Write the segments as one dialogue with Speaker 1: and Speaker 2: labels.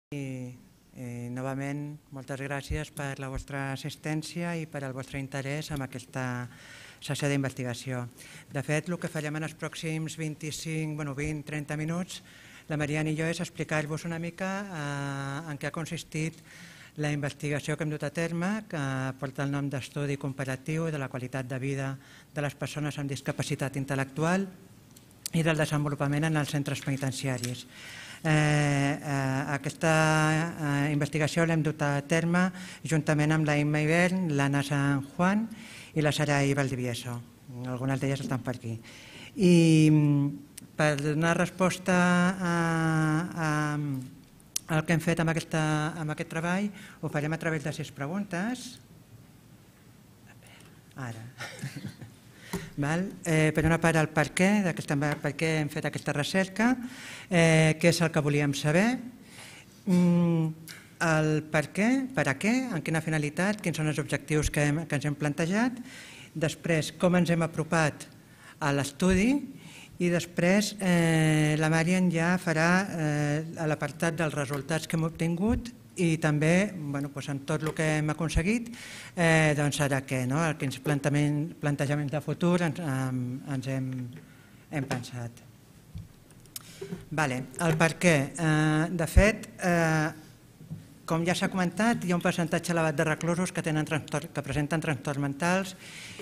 Speaker 1: I novament, moltes gràcies per la vostra assistència i per el vostre interès en aquesta sessió d'investigació. De fet, el que farem en els pròxims 20-30 minuts, la Mariana i jo, és explicar-vos una mica en què ha consistit la investigació que hem dut a terme, que porta el nom d'Estudi Comparatiu de la Qualitat de Vida de les Persones amb Discapacitat Intel·lectual i del Desenvolupament en els Centres Penitenciaris. Aquesta investigació l'hem dut a terme juntament amb la Imma Ibern, l'Anna San Juan i la Sarai Valdivieso. Algunes d'elles estan per aquí. I per donar resposta al que hem fet amb aquest treball, ho farem a través de 6 preguntes. Ara. Per una part, el per què hem fet aquesta recerca, què és el que volíem saber, el per què, per a què, en quina finalitat, quins són els objectius que ens hem plantejat, després com ens hem apropat a l'estudi i després la Marian ja farà l'apartat dels resultats que hem obtingut i també, amb tot el que hem aconseguit, ara què, quins plantejaments de futur ens hem pensat. El per què. De fet, com ja s'ha comentat, hi ha un percentatge elevat de reclusos que presenten trastorns mentals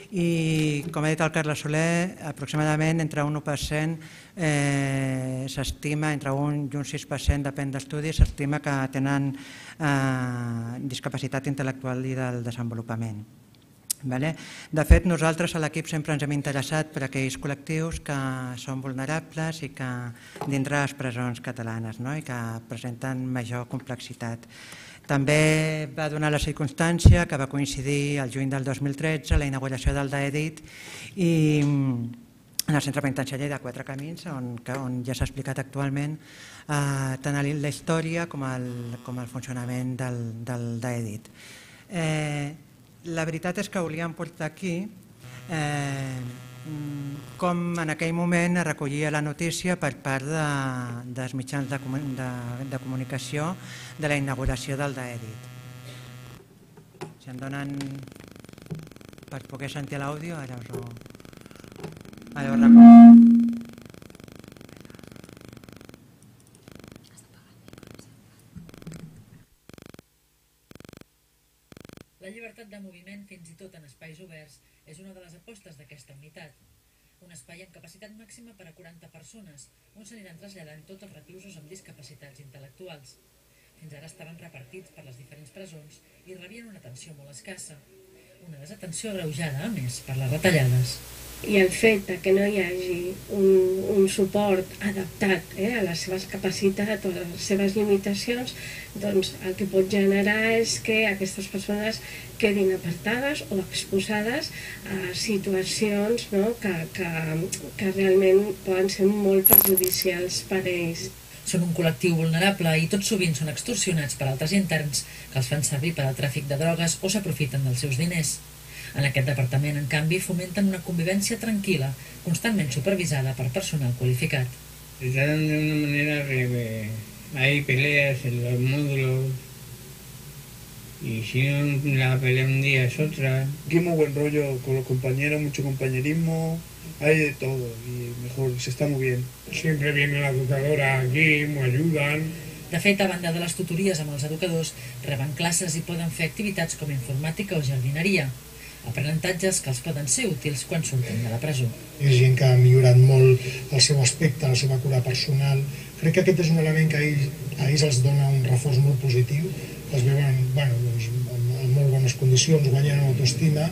Speaker 1: i, com ha dit el Carles Soler, aproximadament entre un 1% s'estima, entre un i un 6%, depèn d'estudis, s'estima que tenen discapacitat intel·lectual i del desenvolupament. De fet, nosaltres a l'equip sempre ens hem interessat per aquells col·lectius que són vulnerables i que dintre les presons catalanes i que presenten major complexitat. També va donar la circumstància que va coincidir el juny del 2013 la inauguració del DAEDIT i en el centre penitenciari de Quatre Camins, on ja s'ha explicat actualment tant la història com el funcionament del DAEDIT. La veritat és que volíem portar aquí com en aquell moment es recollia la notícia per part dels mitjans de comunicació de la inauguració del DAEDIT. Si em donen per poder sentir l'àudio, ara us ho recordo.
Speaker 2: La llibertat de moviment, fins i tot en espais oberts, és una de les apostes d'aquesta unitat. Un espai amb capacitat màxima per a 40 persones, on s'aniran traslladant tots els reclusos amb discapacitats intel·lectuals. Fins ara estaven repartits per les diferents presons i rebien una atenció molt escassa. Una desatenció agreujada, a més, per les retallades.
Speaker 3: I el fet que no hi hagi un suport adaptat a les seves capacitats o a les seves limitacions, doncs el que pot generar és que aquestes persones quedin apartades o exposades a situacions que realment poden ser molt perjudicials per a ells.
Speaker 2: Són un col·lectiu vulnerable i tot sovint són extorsionats per altres interns que els fan servir per al tràfic de drogues o s'aprofiten dels seus diners. En aquest departament, en canvi, fomenten una convivència tranquil·la, constantment supervisada per personal qualificat.
Speaker 4: Se tratan de una manera que hay peleas en los módulos y si la pelea un día es otra.
Speaker 5: Aquí muy buen rollo con los compañeros, mucho compañerismo, hay de todo y mejor, se está muy bien.
Speaker 6: Siempre viene la educadora aquí, me ayudan.
Speaker 2: De fet, a banda de les tutories amb els educadors, reben classes i poden fer activitats com informàtica o jardineria. Aprenentatges que els poden ser útils quan surten de la presó.
Speaker 6: És gent que ha millorat molt el seu aspecte, la seva cura personal. Crec que aquest és un element que a ells els dona un reforç molt positiu. Els veuen en molt bones condicions, guanyen autoestima.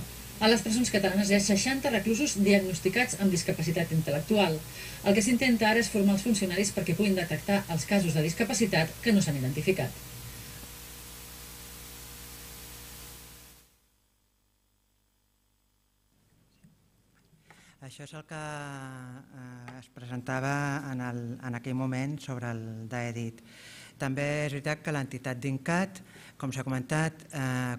Speaker 2: A les presons catalanes hi ha 60 reclusos diagnosticats amb discapacitat intel·lectual. El que s'intenta ara és formar els funcionaris perquè puguin detectar els casos de discapacitat que no s'han identificat.
Speaker 1: Això és el que es presentava en aquell moment sobre el DAEDIT. També és veritat que l'entitat d'INCAT, com s'ha comentat,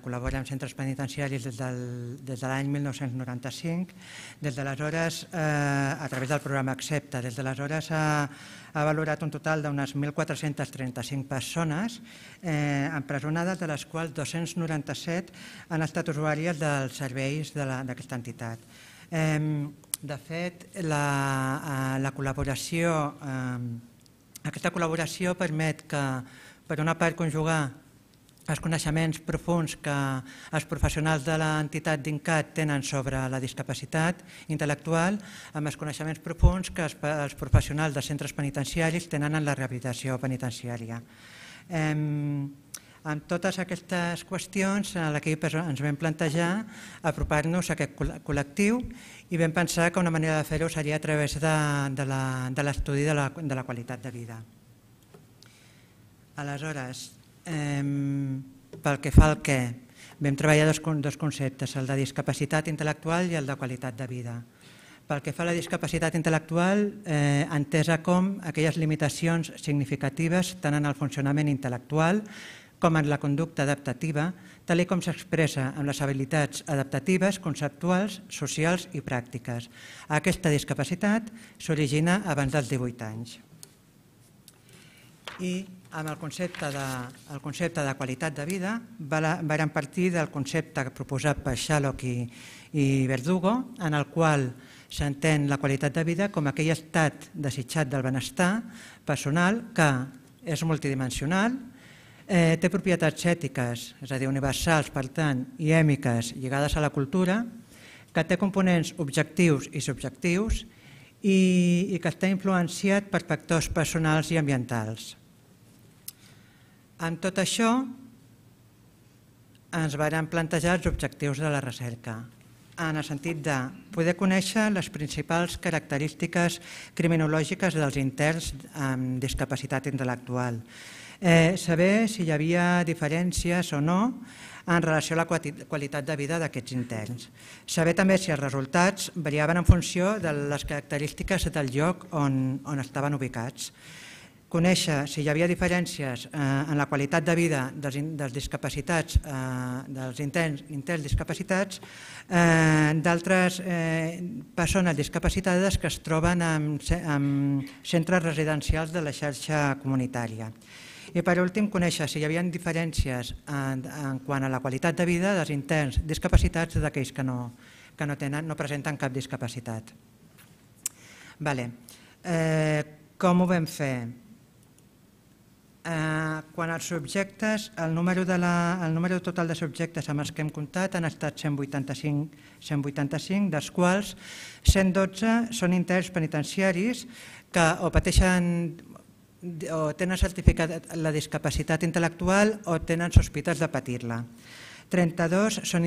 Speaker 1: col·labora amb centres penitenciaris des de l'any 1995. Des d'aleshores, a través del programa Accepta, des d'aleshores ha valorat un total d'unes 1.435 persones empresonades, de les quals 297 han estat usuàries dels serveis d'aquesta entitat. De fet, aquesta col·laboració permet que, per una part, conjugar els coneixements profunds que els professionals de l'entitat d'INCAT tenen sobre la discapacitat intel·lectual amb els coneixements profunds que els professionals de centres penitenciaris tenen en la rehabilitació penitenciària. Amb totes aquestes qüestions, l'equip ens vam plantejar apropar-nos a aquest col·lectiu i vam pensar que una manera de fer-ho seria a través de l'estudi de la qualitat de vida. Aleshores, pel que fa al què, vam treballar dos conceptes, el de discapacitat intel·lectual i el de qualitat de vida. Pel que fa a la discapacitat intel·lectual, entesa com aquelles limitacions significatives tant en el funcionament intel·lectual com en la conducta adaptativa, tal com s'expressa amb les habilitats adaptatives, conceptuals, socials i pràctiques. Aquesta discapacitat s'origina abans dels 18 anys. I amb el concepte de qualitat de vida vàrem partir del concepte proposat per Shalhoub i Verdugo, en el qual s'entén la qualitat de vida com aquell estat desitjat del benestar personal que és multidimensional, té propietats ètiques, és a dir, universals, per tant, i èmiques lligades a la cultura, que té components objectius i subjectius i que està influenciat per factors personals i ambientals. Amb tot això, ens vàrem plantejar els objectius de la recerca, en el sentit de poder conèixer les principals característiques criminològiques dels interns amb discapacitat intel·lectual, saber si hi havia diferències o no en relació a la qualitat de vida d'aquests interns, saber també si els resultats variaven en funció de les característiques del lloc on estaven ubicats, conèixer si hi havia diferències en la qualitat de vida dels discapacitats, dels interns discapacitats, d'altres persones discapacitades que es troben en centres residencials de la xarxa comunitària. I per últim, conèixer si hi havia diferències en quant a la qualitat de vida dels interns discapacitats d'aquells que no presenten cap discapacitat. Com ho vam fer? Quan als subjectes, el número total de subjectes amb els que hem comptat han estat 185, dels quals 112 són interns penitenciaris que o pateixen o tenen certificat la discapacitat intel·lectual o tenen sospites de patir-la. 32 són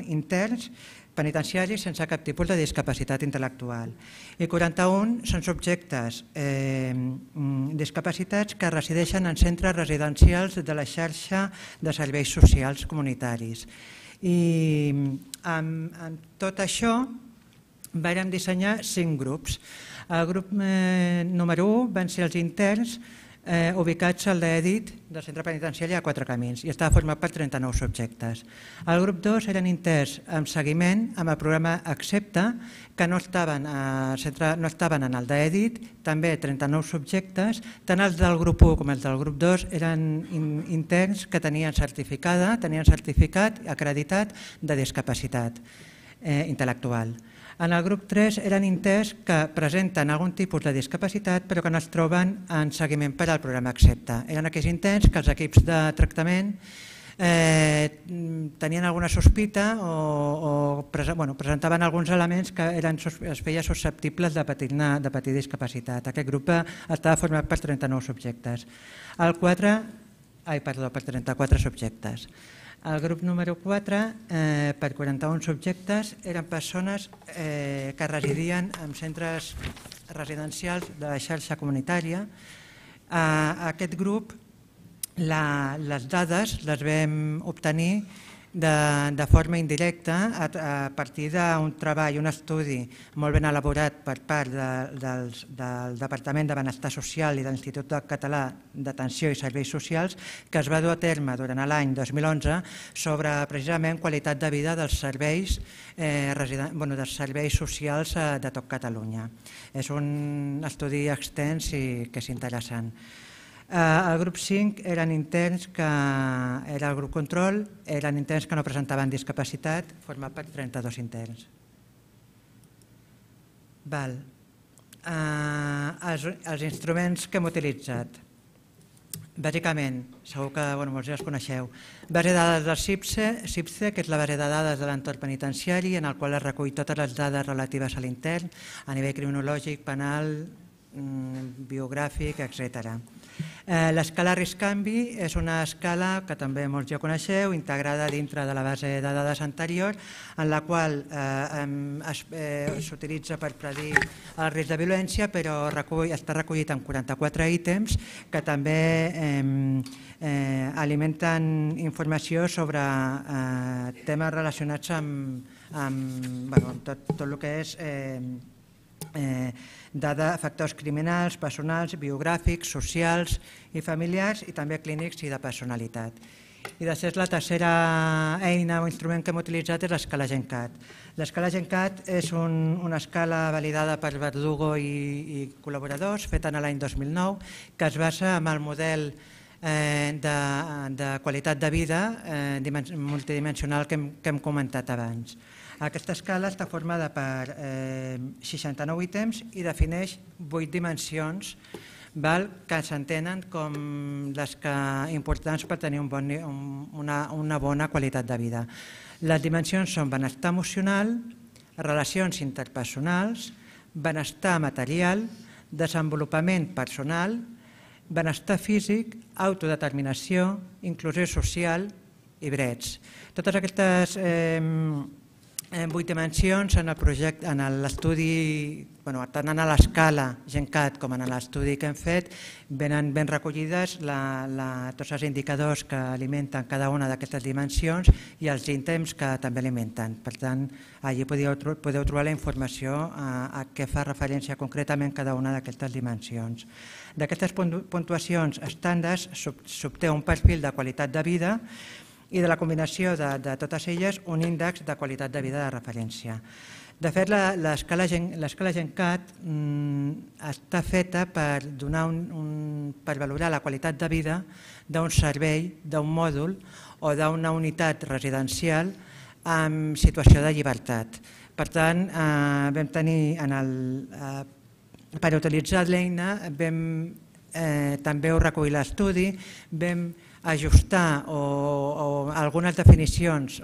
Speaker 1: interns penitenciaris sense cap tipus de discapacitat intel·lectual i 41 són subjectes discapacitats que resideixen en centres residencials de la xarxa de serveis socials comunitaris. I amb tot això vàrem dissenyar 5 grups. El grup número 1 van ser els interns ubicats al DEDIT del centre penitenciari a Quatre Camins i estava format per 39 subjectes. El grup 2 eren interns amb seguiment amb el programa Accepta, que no estaven en el DEDIT, també 39 subjectes, tant els del grup 1 com els del grup 2 eren interns que tenien certificat acreditat de discapacitat intel·lectual. En el grup 3 eren interns que presenten algun tipus de discapacitat però que no es troben en seguiment per al programa Accepta. Eren aquells interns que els equips de tractament tenien alguna sospita o presentaven alguns elements que es feia susceptibles de patir discapacitat. Aquest grup estava format per 39 subjectes. Per 34 subjectes. El grup número 4, per 41 subjectes, eren persones que residien en centres residencials de la xarxa comunitària. A aquest grup les dades les vam obtenir de forma indirecta a partir d'un treball, un estudi molt ben elaborat per part del Departament de Benestar Social i de l'Institut Català d'Atenció i Serveis Socials, que es va dur a terme durant l'any 2011 sobre precisament qualitat de vida dels serveis socials de tot Catalunya. És un estudi extens i que és interessant. El grup 5 eren interns que era el grup control, eren interns que no presentaven discapacitat, format per 32 interns. Els instruments que hem utilitzat. Bàsicament, segur que molts ja els coneixeu, base de dades del CIPSE, que és la base de dades de l'entorn penitenciari, en el qual es recull totes les dades relatives a l'intern, a nivell criminològic, penal, biogràfic, etc. L'escala risc-canvi és una escala que també molts ja coneixeu, integrada dintre de la base de dades anterior, en la qual s'utilitza per predir el risc de violència, però està recollit en 44 ítems que també alimenten informació sobre temes relacionats amb tot el que és factors criminals, personals, biogràfics, socials i familiars, i també clínics i de personalitat. I després la tercera eina o instrument que hem utilitzat és l'escala GenCat. L'escala GenCat és una escala validada per Verdugo i col·laboradors, feta en l'any 2009, que es basa en el model de qualitat de vida multidimensional que hem comentat abans. Aquesta escala està formada per 69 ítems i defineix 8 dimensions que s'entenen com les importants per tenir una bona qualitat de vida. Les dimensions són benestar emocional, relacions interpersonals, benestar material, desenvolupament personal, benestar físic, autodeterminació, inclusió social i drets. Totes aquestes 8 dimensions en l'estudi, tant en l'escala GenCat com en l'estudi que hem fet, venen ben recollides tots els indicadors que alimenten cada una d'aquestes dimensions i els ítems que també alimenten. Per tant, allí podeu trobar la informació a què fa referència concretament cada una d'aquestes dimensions. D'aquestes puntuacions estàndards s'obté un perfil de qualitat de vida i de la combinació de totes elles un índex de qualitat de vida de referència. De fet, l'escala GenCat està feta per valorar la qualitat de vida d'un servei, d'un mòdul o d'una unitat residencial en situació de llibertat. Per tant, vam tenir, per utilitzar l'eina, també ho recull l'estudi, vam ajustar algunes definicions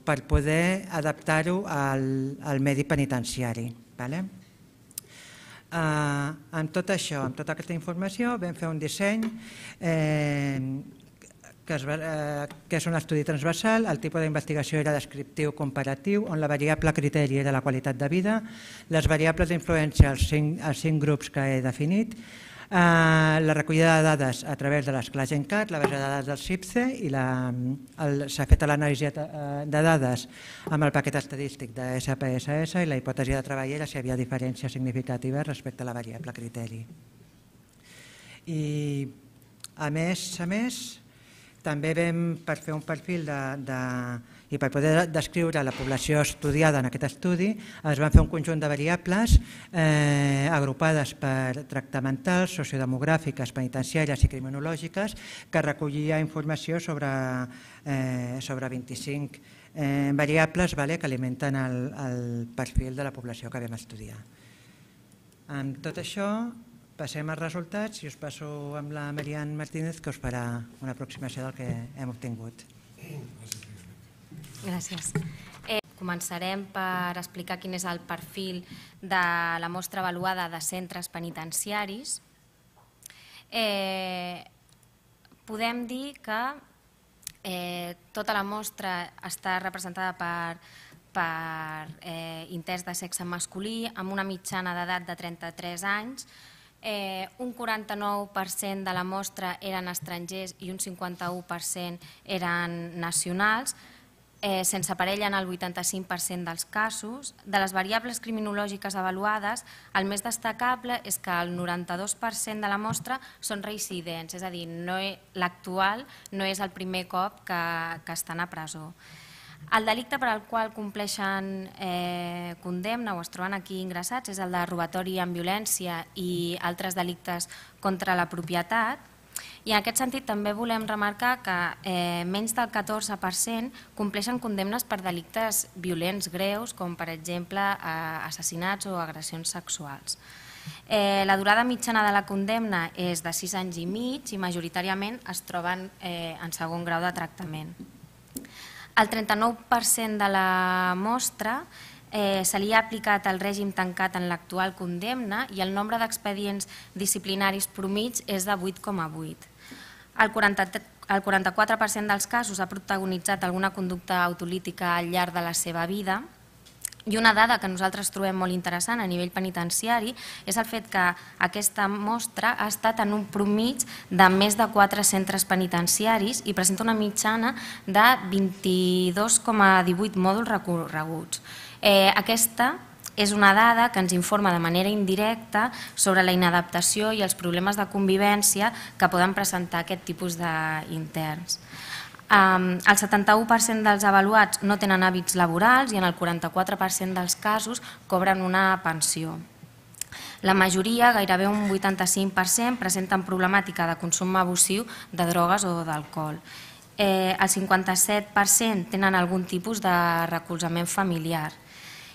Speaker 1: per poder adaptar-ho al medi penitenciari. Amb tot això, amb tota aquesta informació, vam fer un disseny que és un estudi transversal. El tipus d'investigació era descriptiu comparatiu, on la variable criteri era la qualitat de vida, les variables d'influència als 5 grups que he definit, la recollida de dades a través de l'escala GenCat, la base de dades del CIPSE, i s'ha fet l'anàlisi de dades amb el paquet estadístic de SPSS i la hipòtesi de treball era si hi havia diferències significatives respecte a la variable criteri. I a més, també vam, per fer un perfil i per poder descriure la població estudiada en aquest estudi, es van fer un conjunt de variables agrupades per tractamentals, sociodemogràfiques, penitenciàries i criminològiques, que recollia informació sobre 25 variables que alimenten el perfil de la població que vam estudiar. Amb tot això, passem als resultats i us passo amb la Marian Martínez, que us farà una aproximació del que hem obtingut.
Speaker 7: Gràcies. Començarem per explicar quin és el perfil de la mostra avaluada de centres penitenciaris. Podem dir que tota la mostra està representada per interns de sexe masculí amb una mitjana d'edat de 33 anys. Un 49% de la mostra eren estrangers i un 51% eren nacionals. sense parella en el 85% dels casos. De les variables criminològiques avaluades, el més destacable és que el 92% de la mostra són reincidents, és a dir, l'actual no és el primer cop que estan a presó. El delicte per al qual compleixen condemna o es troben aquí ingressats és el de robatori amb violència i altres delictes contra la propietat. I en aquest sentit també volem remarcar que menys del 14% compleixen condemnes per delictes violents greus, com per exemple assassinats o agressions sexuals. La durada mitjana de la condemna és de 6 anys i mig i majoritàriament es troben en segon grau de tractament. El 39% de la mostra se li ha aplicat el règim tancat en l'actual condemna i el nombre d'expedients disciplinaris promig és de 8,8. El 44% dels casos ha protagonitzat alguna conducta autolítica al llarg de la seva vida. I una dada que nosaltres trobem molt interessant a nivell penitenciari és el fet que aquesta mostra ha estat en un promig de més de 4 centres penitenciaris i presenta una mitjana de 22,18 mòduls recorreguts. Aquesta és una dada que ens informa de manera indirecta sobre la inadaptació i els problemes de convivència que poden presentar aquest tipus d'interns. El 71% dels avaluats no tenen hàbits laborals i en el 44% dels casos cobren una pensió. La majoria, gairebé un 85%, presenten problemàtica de consum abusiu de drogues o d'alcohol. El 57% tenen algun tipus de recolzament familiar.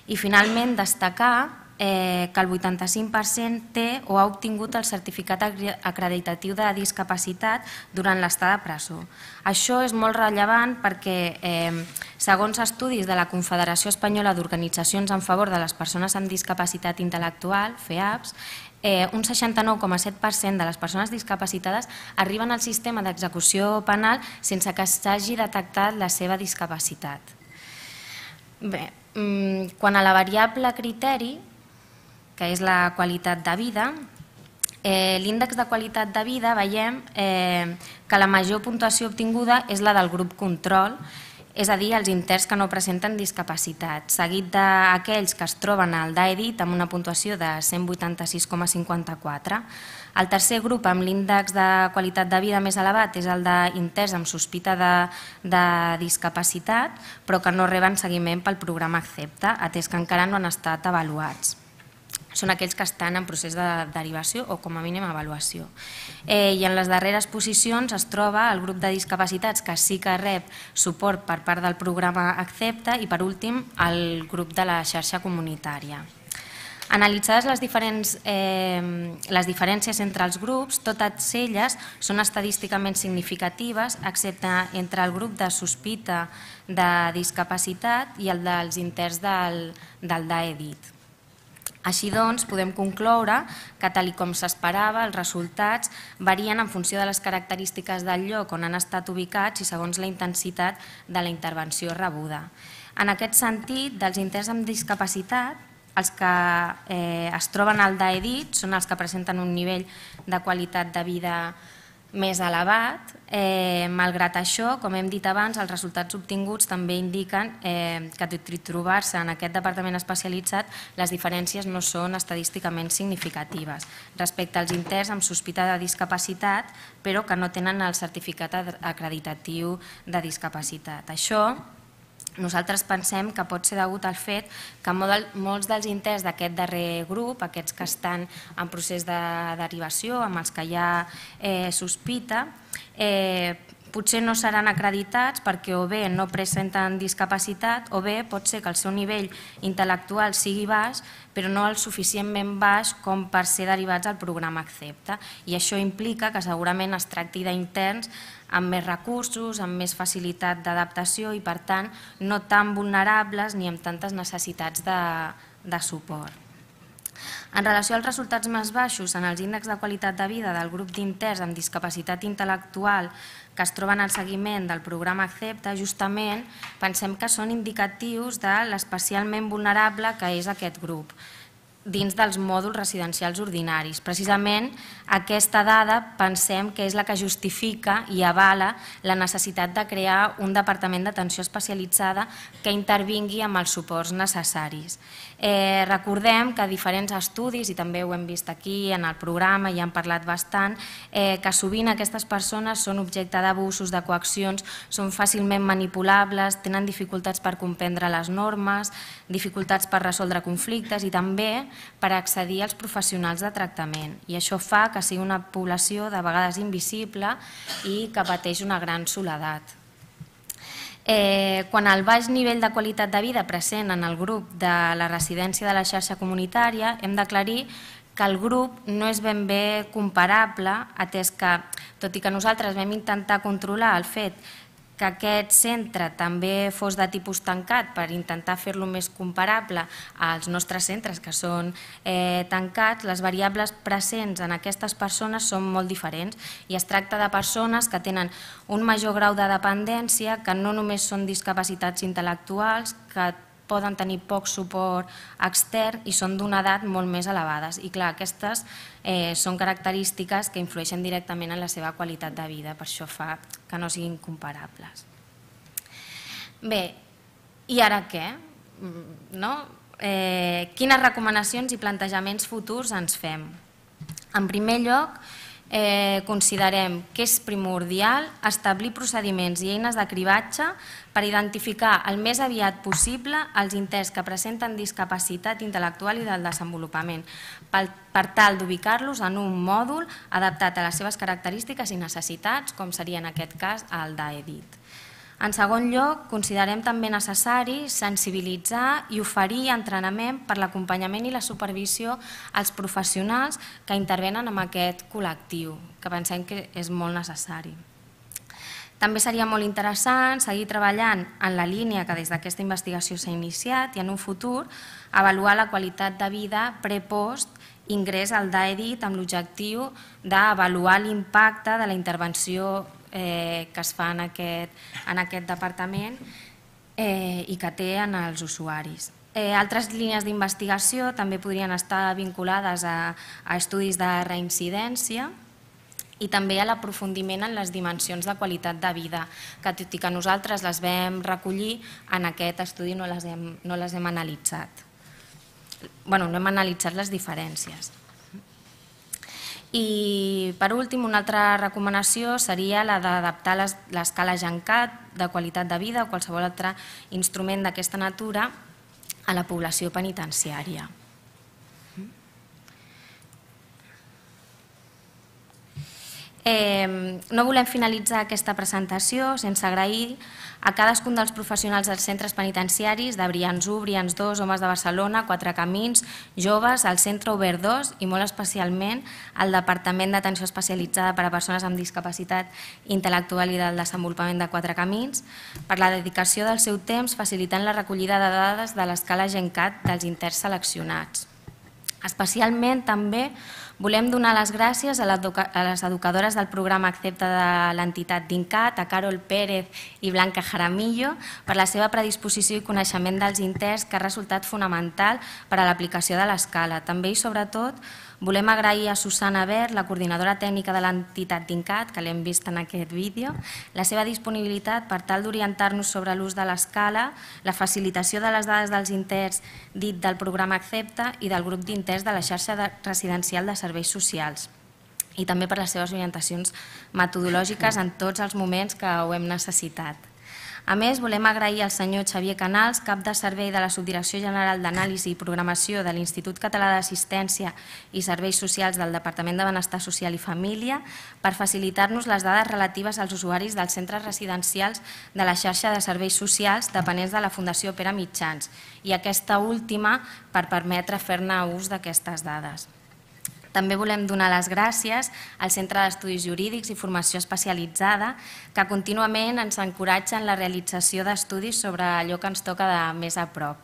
Speaker 7: I finalment destacar que el 85% té o ha obtingut el certificat acreditatiu de discapacitat durant l'estada a presó. Això és molt rellevant perquè, segons estudis de la Confederació Espanyola d'Organitzacions en favor de les persones amb discapacitat intel·lectual, FEAPS, un 69,7% de les persones discapacitades arriben al sistema d'execució penal sense que s'hagi detectat la seva discapacitat. Bé, quan a la variable criteri, que és la qualitat de vida, l'índex de qualitat de vida veiem que la major puntuació obtinguda és la del grup control, és a dir, els interns que no presenten discapacitat, seguit d'aquells que es troben al DAEDIT amb una puntuació de 186,54. El tercer grup amb l'índex de qualitat de vida més elevat és el d'interns amb sospita de discapacitat, però que no reben seguiment pel programa Accepta, atès que encara no han estat avaluats. Són aquells que estan en procés de derivació o com a mínim avaluació. I en les darreres posicions es troba el grup de discapacitats que sí que rep suport per part del programa Accepta i per últim el grup de la xarxa comunitària. Analitzades les diferències entre els grups, totes elles són estadísticament significatives, excepte entre el grup de sospita de discapacitat i el dels interns del DAEDIT. Així doncs, podem concloure que, tal com s'esperava, els resultats varien en funció de les característiques del lloc on han estat ubicats i segons la intensitat de la intervenció rebuda. En aquest sentit, dels interns amb discapacitat, els que es troben al DAEDIT són els que presenten un nivell de qualitat de vida més elevat. Malgrat això, com hem dit abans, els resultats obtinguts també indiquen que, tot i trobar-se en aquest departament especialitzat, les diferències no són estadísticament significatives respecte als interns amb sospita de discapacitat, però que no tenen el certificat acreditatiu de discapacitat. Això nosaltres pensem que pot ser degut al fet que molts dels interns d'aquest darrer grup, aquests que estan en procés de derivació, amb els que hi ha sospita, potser no seran acreditats perquè o bé no presenten discapacitat o bé pot ser que el seu nivell intel·lectual sigui baix però no el suficientment baix com per ser derivats al programa Accepta, i això implica que segurament es tracti d'interns amb més recursos, amb més facilitat d'adaptació i per tant no tan vulnerables ni amb tantes necessitats de suport. En relació als resultats més baixos en els índexs de qualitat de vida del grup d'interns amb discapacitat intel·lectual que es troben al seguiment del programa Accepta, justament pensem que són indicatius de l'especialment vulnerable que és aquest grup. dins dels mòduls residencials ordinaris. Precisament aquesta dada pensem que és la que justifica i avala la necessitat de crear un departament d'atenció especialitzada que intervingui amb els suports necessaris. Recordem que diferents estudis, i també ho hem vist aquí en el programa i han parlat bastant, que sovint aquestes persones són objecte d'abusos, de coaccions, són fàcilment manipulables, tenen dificultats per comprendre les normes, dificultats per resoldre conflictes i també per accedir als professionals de tractament. I això fa que sigui una població de vegades invisible i que pateix una gran soledat. Quan el baix nivell de qualitat de vida present en el grup de la residència de la xarxa comunitària, hem d'aclarir que el grup no és ben bé comparable, atès que, tot i que nosaltres vam intentar controlar el fet que aquest centre també fos de tipus tancat per intentar fer-lo més comparable als nostres centres que són tancats, les variables presents en aquestes persones són molt diferents i es tracta de persones que tenen un major grau de dependència, que no només són discapacitats intel·lectuals, que poden tenir poc suport extern i són d'una edat molt més elevades. I clar, aquestes són característiques que influeixen directament en la seva qualitat de vida, per això fa que no siguin comparables. Bé, i ara què? Quines recomanacions i plantejaments futurs ens fem? En primer lloc, considerem que és primordial establir procediments i eines de cribatge per identificar el més aviat possible els interns que presenten discapacitat intel·lectual i del desenvolupament, per tal d'ubicar-los en un mòdul adaptat a les seves característiques i necessitats, com seria en aquest cas el d'AEDIT. En segon lloc, considerem també necessari sensibilitzar i oferir entrenament per l'acompanyament i la supervisió als professionals que intervenen en aquest col·lectiu, que pensem que és molt necessari. També seria molt interessant seguir treballant en la línia que des d'aquesta investigació s'ha iniciat i en un futur avaluar la qualitat de vida pre-post ingrés al DAEDIT amb l'objectiu d'avaluar l'impacte de la intervenció que es fa en aquest departament i que té en els usuaris. Altres línies d'investigació també podrien estar vinculades a estudis de reincidència i també a l'aprofundiment en les dimensions de qualitat de vida, que tot i que nosaltres les vam recollir, en aquest estudi no les hem analitzat. Bé, no hem analitzat les diferències. I per últim, una altra recomanació seria la d'adaptar l'escala GENCAT de qualitat de vida o qualsevol altre instrument d'aquesta natura a la població penitenciària. No volem finalitzar aquesta presentació sense agrair a cadascun dels professionals dels centres penitenciaris de Brians 1, Brians 2, Homes de Barcelona, Quatre Camins, Joves, el Centre Obert 2 i molt especialment al Departament d'Atenció Especialitzada per a Persones amb Discapacitat Intel·lectual i del Desenvolupament de Quatre Camins per la dedicació del seu temps facilitant la recollida de dades de l'escala GENCAT dels interns seleccionats. Especialment també volem donar les gràcies a les educadores del programa Accepta de l'entitat d'INCAT, a Carol Pérez i Blanca Jaramillo, per la seva predisposició i coneixement dels interns que ha resultat fonamental per a l'aplicació de l'escala. També i sobretot volem agrair a Susana Bert, la coordinadora tècnica de l'entitat d'INCAT, que l'hem vist en aquest vídeo, la seva disponibilitat per tal d'orientar-nos sobre l'ús de l'escala, la facilitació de les dades dels interns dit del programa Accepta i del grup d'interns de la xarxa residencial de serveis socials i també per les seves orientacions metodològiques en tots els moments que ho hem necessitat. A més, volem agrair al senyor Xavier Canals, cap de servei de la Subdirecció General d'Anàlisi i Programació de l'Institut Català d'Assistència i Serveis Socials del Departament de Benestar Social i Família, per facilitar-nos les dades relatives als usuaris dels centres residencials de la xarxa de serveis socials dependents de la Fundació Pere Mitjans i aquesta última per permetre fer-ne ús d'aquestes dades. També volem donar les gràcies al Centre d'Estudis Jurídics i Formació Especialitzada, que contínuament ens encoratja en la realització d'estudis sobre allò que ens toca de més a prop.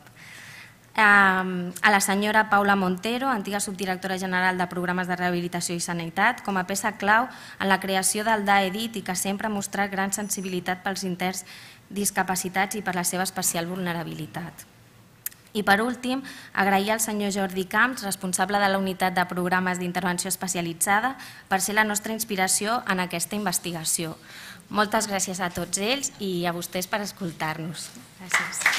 Speaker 7: A la senyora Paula Montero, antiga subdirectora general de Programes de Rehabilitació i Sanitat, com a peça clau en la creació del DAEDIT i que sempre ha mostrat gran sensibilitat pels interns discapacitats i per la seva especial vulnerabilitat. I per últim, agrair al senyor Jordi Camps, responsable de la unitat de programes d'intervenció especialitzada, per ser la nostra inspiració en aquesta investigació. Moltes gràcies a tots ells i a vostès per escoltar-nos. Gràcies.